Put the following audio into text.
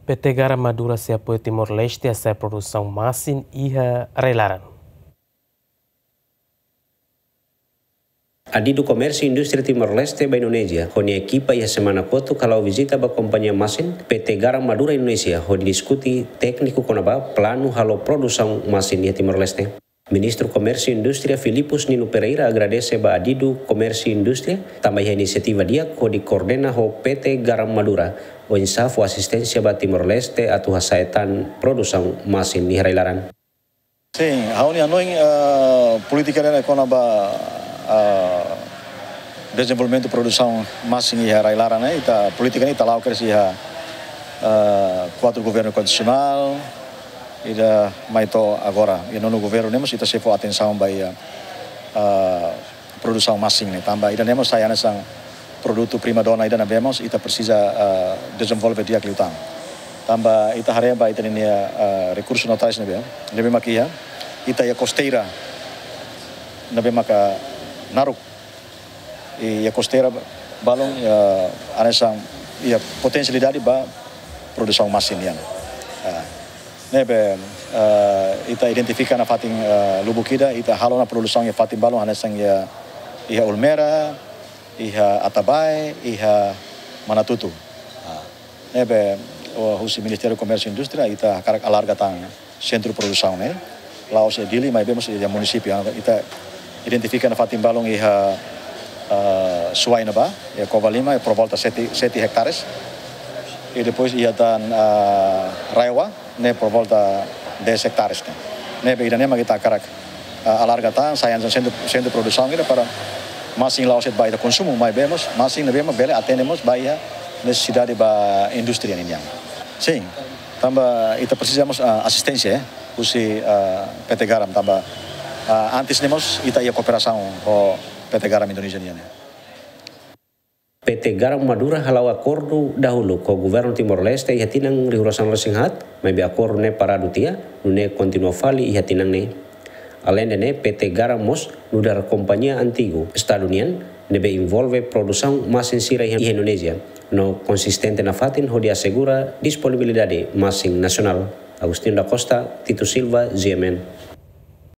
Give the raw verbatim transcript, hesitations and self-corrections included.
P T Garam Madura sei apoia Timor-Leste hasa'e produsaun masin iha rai-laran. Adidu Komérsiu Indústria Timor-Leste ba Indonézia ho nia ekipa iha semana kotuk hala'o vizita ba kompañia masin P T Garam Madura Indonézia hodi diskute tékniku kona-ba planu halo produsaun masin iha Timor-Leste. Ministru Komérsiu Indústria Filipus Nino Pereira agradese ba Adidu Komérsiu Indústria tanba iha inisiativa di'ak hodi koordena ho P T Garam Madura oinsá fó asisténsia ba Timor-Leste atu hasa'e tan produsaun masin iha rai-laran. Sin, ha'u-nia hanoin, eh, polítika ne'e kona-ba, eh, dezenvolvimentu produsaun masin iha rai-laran ne'e, ita polítika ne'e ita la'o kedas iha, eh, kuartu governu konstitusionál, ida mai to'o agora. Iha nonu governu ne'e mós ita sei fó atensaun ba iha, eh, produsaun masin ne'e. Tanba ida ne'e mós sai hanesan produtu prima dona ida ne'ebé mós ita presiza, eh, dezenvolve di'ak liután. Tanba ita haree ba ita-nia, eh, rekursu naturais ne'ebé, ne'ebé mak iha, ita iha kosteira ne'ebé maka naruk. I iha kosteira balun, eh, hanesan iha potensialidade ba produsaun masin nian. Eh, ne'ebé, eh, ita identifika nafatin, eh, lubuk ida, ita halo ona produsaun iha fatin balun hanesan iha, iha Ulmera, iha Atabae, iha Manatutu. Ah, ne'ebé, oh, husi Ministériu Komérsiu Indústria, ita hakarak alarga tan sentru produsaun ne'e. La'ós iha Dili, maibé mós iha munisípiu. Ita identifika nafatin balun iha, eh, Suai ne'ebá, iha Covalima, por volta sete, sete hektares. I depois iha tan, eh, Raeoa, ne'e por volta dez hektares ne'e. Ne'ebé ida-ne'e mak ita hakarak, eh, alarga tan, sai hanesan sentru, sentru produsaun ida para masin la'ós de'it ba ita konsumu, maibé mós masin ne'ebé mak bele atende mós ba iha nesesidade ba indústria ninian. Sin, tanba ita presiza mós, eh, asisténsia, eh, husi, eh, P T Garam, tanba, eh, antes ne'e mós ita iha kooperasaun ho P T Garam Indonézia nian, eh. P T Garam Madura hala'o akordu dahuluk ho Governu Timor-Leste iha tinan rihun rua sanulu-resin-haat, maibé akordu ne'e paradu tiha, nune'e kontinua fali iha tinan ne'e. Aleinde ne'e, P T Garam mós nu'udar kompañia antigu Estadu nian, ne'ebé envolve produsaun masin sira iha, iha Indonézia, no konsistente nafatin hodi asegura disponibilidade masin nasionál. Agostinho da Costa, Tito Silva, G M N.